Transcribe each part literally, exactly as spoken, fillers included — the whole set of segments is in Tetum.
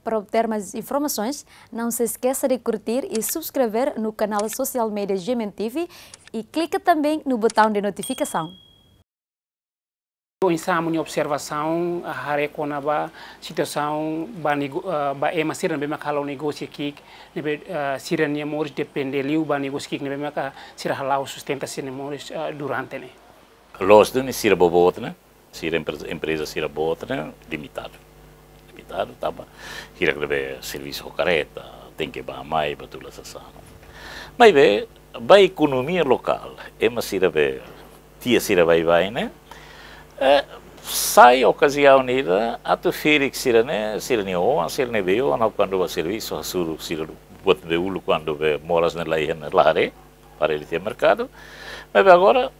Para obter mais informações, não se esqueça de curtir e subscrever no canal social media G M N T V e clica também no botão de notificação. Oinsá amu-nia observasaun, ah, haree kona-ba situasaun ba nego-, ah, ba ema sira ne'ebé mak halo negósiu ki'ik, ne'ebé, ah, sira-nia moris depende liu ba negósiu ki'ik ne'ebé mak, ah, sira hala'o sustenta sira-nia moris, ah, durante ne'e. Loos duni sira boboot ne'e, sira empreza, empreza sira boot ne'e, limitadu. Limitadu, tanba hirak ne'ebé servisu ho karreta, tenke bá mai, bá tula sasán. Maibé, ba ekonomia lokál, ema sira be, tiha sira baibain ne'e, eh, sai okaziaun ida, atu ferik sira-ne'e, sira-nia oan, sira-nia bei-oan, ha'u kuandu bá servisu, hasoru sira buat be uluk kuandu be moras ne'e la iha ne'e la haree, para ele ter merkadu. Maibé agora,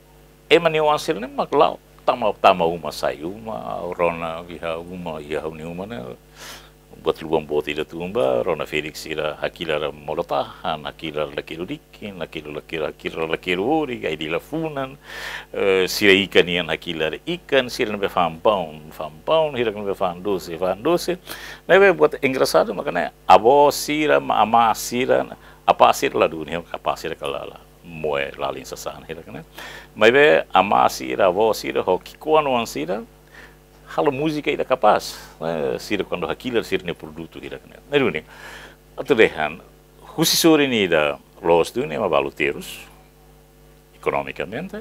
ema nia oan sira-ne'e mak la'o, tama, tama uma, sai uma, rona iha uma, iha ha'u-nia uma ne'e. Buat lubang boot ida tun bá, rona ferik sira hakilar molo-tahan, hakilar lakeru dikin, hakilar lakeru, hakilar lakeru orik, ai di la funan, eh, sira ikan nian hakilar ikan, sira ne'ebé fa'an paun, fa'an paun, hirak ne'ebé fa'an dose, fa'an dose. Ne'ebé buat engrasadu, makanya avó sira, ma-, amá sira, apá sira la duni, apá sira ka la, la moe lalin sasán hirak ne'e. Maibé amá sira, avó sira, ho ki'ikoan oan sira, halo múzika ida kapás, eh, sira kuandu hakilar sira-nia produtu hirak ne'e. Ne'e duni, atu dehan, husi sorin ida loos duni ema balu terus, ekonomikamente,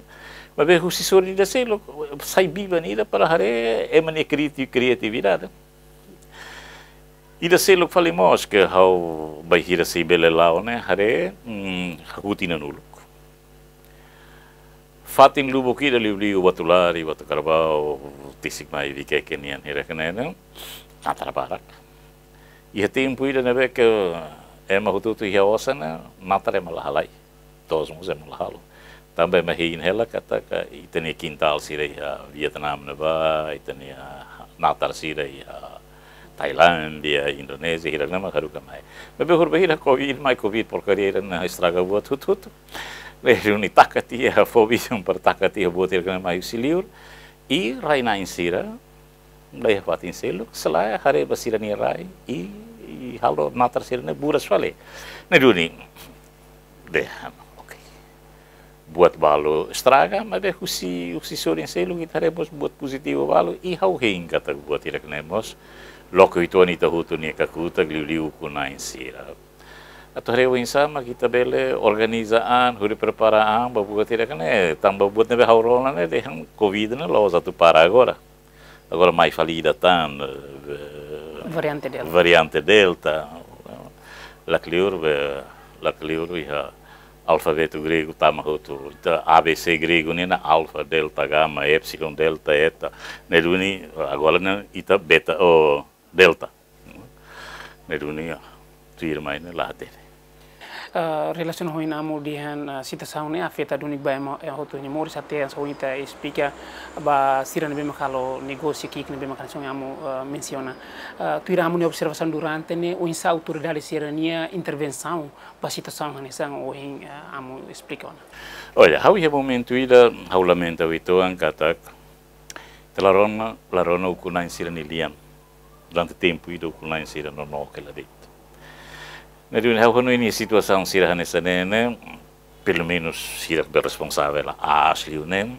maibé husi sorin ida seluk, sai biban ida para haree ema nia kriati-, kriatividade. Ida seluk fali mós ke ha'u bainhira sei bele la'o ne'e, haree, mm, hakutin inan uluk. Fatin lubuk ida liuliu Ubatulari, Utukarabau, Tisikmai, Vikeke nian hirak ne'e, natar barak. Iha tempu ida ne'ebé ke ema hotu-hotu iha osan ne'e, natar ema la halai. To'os mós ema la halo. Tanba ema hein hela katak ita-nia kintál sira iha Vietnam ne'ebá, ita-nia natar sira iha Tailándia, Indonézia, hirak ne'e mak haruka mai. Maibé horibainhira Covid, mai Covid porkaria ida ne'e estraga buat hotu-hotu. Ne'e duni taka tiha, fó bisan para taka tiha buat hirak ne'e mai husi liur. I rai-na'in sira, la iha fatin seluk, selae haree ba sira-nia rai, i, i halo natar sira-ne'e buras fali. Ne'e duni, dehan, oke. Buat balu estraga, maibé husi, husi sorin seluk, ita haree mós buat pozitivu balu, i ha'u hein katak buat hirak ne'e mós, loke uitoan ita hotu nia kakutak, liuliu ukun-na'in sira. Atu haree oinsá mak ita bele organiza an, hodi prepara an, ba buat hirak ne'e, tanba buat ne'ebé ha'u rona ne'e, dehan Covid ne'e la'ós atu para agora. Agora mai fali ida tan, eh, Variante Delta. Variante Delta. Lakleur be, lakleur iha alfabetu gregu tama hotu. Ita A B C gregu nian, alfa, delta, gama, epsilon, delta, eta. Ne'e duni, agora ne'e ita beta, oh, delta. Ne'e duni, ah, tuirmai ne'e la hatene. Ah, relasiona ho ohin amu dehan, ah, situasaun ne'e afeta duni ba ema, eh, hotu nia moris até hanesan ohin ita esplika ba sira ne'ebé mak halo negósiu ki'ik ne'ebé mak hanesan amu, ah, mensiona. Ah, tuir amu-nia observasaun durante ne'e, oinsá autoridade sira-nia intervensaun ba situasaun hanesan ohin, ah, amu esplika ona. Olha, ha'u iha momentu ida, ha'u lamenta uitoan katak, ita la rona, la rona ukun-na'in sira-nia lian. Durante tempu ida ukun-na'in sira nonook hela de'it. Ne'e duni ha'u hanoin situasaun sira hanesan ne'e ne'e, pelumenus sira be responsavel aas liu ne'e,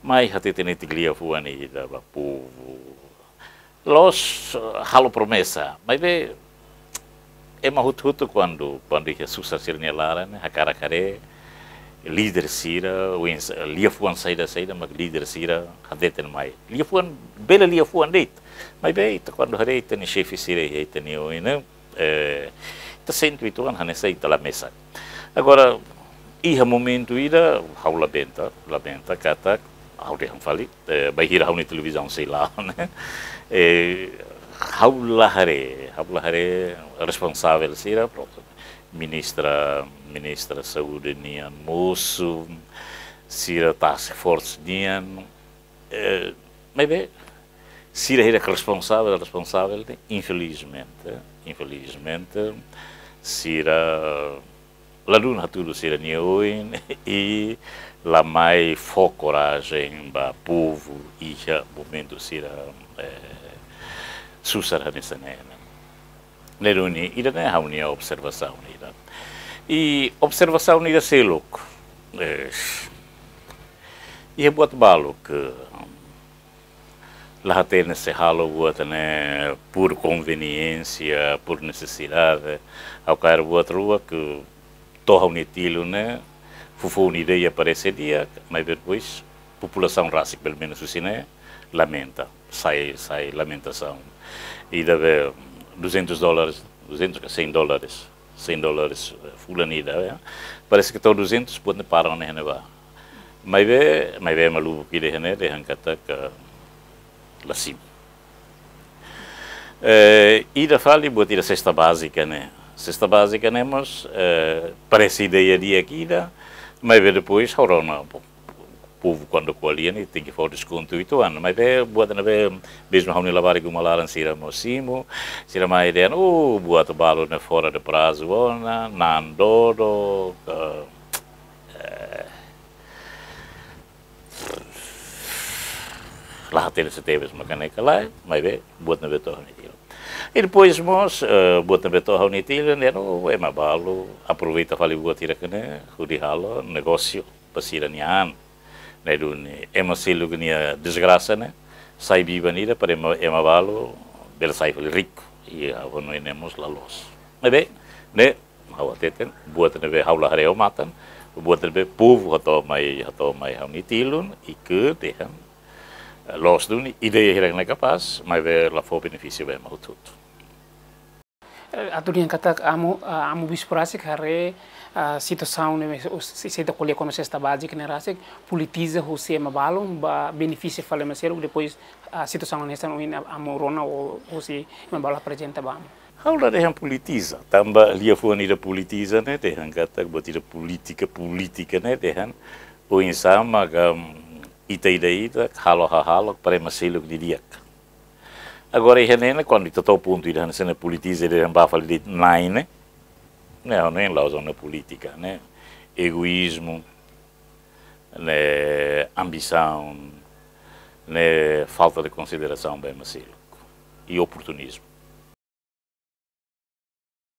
mai hateten netik liafuan ida ba povu. La'ós, eh, halo promesa, maibé ema hotu-hotu kuandu, kuandu iha susar sira-nia laran, hakarak haree líder sira, oinsá, liafuan saida-saida mak líder sira hateten mai. Liafuan, bele liafuan de'it. Maibé ita kuandu haree ita-nia xefe sira iha ita-nia oin ne'e, eh, ita sente uitoan hanesan ita la mesak. Agora, iha momentu ida, ha'u lamenta, lamenta katak, ha'u dehan fali, eh, bainhira ha'u-nia televizaun sei la'o ne'e. Eh, ha'u la haree, ha'u la haree responsavel sira, prontu. Ministra, ministra saúde nian mosu, sira task force nian, eh, maibé, sira hirak responsavel, responsavel ne'e, infelizmente, infelizmente, sira ladún hatudu sira-nia oin i la mai fó korajen ba povu iha momentu sira, eh, susar hanesan ne'e. Ne'e duni, ida-ne'e ha'u-nia observasaun ida. I observasaun ida seluk. Eh, iha buat balu ke la hatene se halo buat ne'e por konveniénsia, por nesesidade. Ha'u kaer buat rua ke to'o ha'u-nia tilun ne'e, foufoun ida-ne'e aparese di'ak, maibé depois populasaun rasik, pelumenus husi ne'e, lamenta, sai, sai lamentasaun. Ida be duzentos dólares, duzentos ka cem dólares, cem dólares, eh, fulan ida, ya. Parese ke to'o duzentos buat ne'e para ona iha ne'ebá. Maibé, maibé ema lubuk ida iha ne'e dehan katak la simu. Eh, ida fali buat ida sesta bázika ne'e. Sesta bázika ne'e mós, eh, parese ideia di'ak ida, maibé depois ha'u rona, po-, povu kuandu ko'alia ne'e tenke fó deskontu uitoan. Maibé buat ne'ebé mezmu ha'u-nia labarik uma laran sira mós simu, sira mai dehan, "Oh, buat balu ne'e fora de prazu ona, na'an dodok, eh, eh, la hatene se tebes maka ne'e ka lae, maibé buat ne'ebé to'o ha'u-nia tilun." I depois mós, eh, buat ne'ebé to'o ha'u-nia tilun, dehan, "Oh, ema balu aproveita fali buat hirak ne'e hodi halo negósiu ba sira-nia an." Ne'e duni, ema seluk nia desgrasa ne'e sai biban ida para ema, ema balu bele sai fali riku. I ha'u hanoin ne'e mós la loos. Maibé, ne'e ha'u hateten, buat ne'ebé ha'u la haree ho matan, buat ne'ebé povu hato'o mai, hato'o mai ha'u-nia tilun, i ke dehan, eh, loos duni, ideia hirak ne'e kapás, maibé la fó benefísiu ba ema hotu-hotu. Eh, atu dehan katak amu, ah, amu bispu rasik haree, ah, situasaun ne'e, se, se ita ko'alia kona-ba sesta bázika ne'e rasik, politiza husi ema balun, ba benefisia fali ema seluk, depois, ah, situasaun hanesan ohin amu rona ou husi ema balu aprezenta ba amu. Ha'u la dehan politiza, tanba liafuan ida politiza ne'e dehan katak buat ida polítika, polítika ne'e dehan oinsá maka, mm, ita ida-idak halo hahalok para ema seluk di'ak. Agora, iha ne'e ne'e, kuandu ita to'o pontu ida hanesan ne'e politiza, ida dehan ba fali de'it Nai ne'e, ne'e, ne'e la'ós ona polítika, ne'e egoízmu, ne'e ambisaun, ne'e falta de konsiderasaun ba ema seluk. I oportunizmu.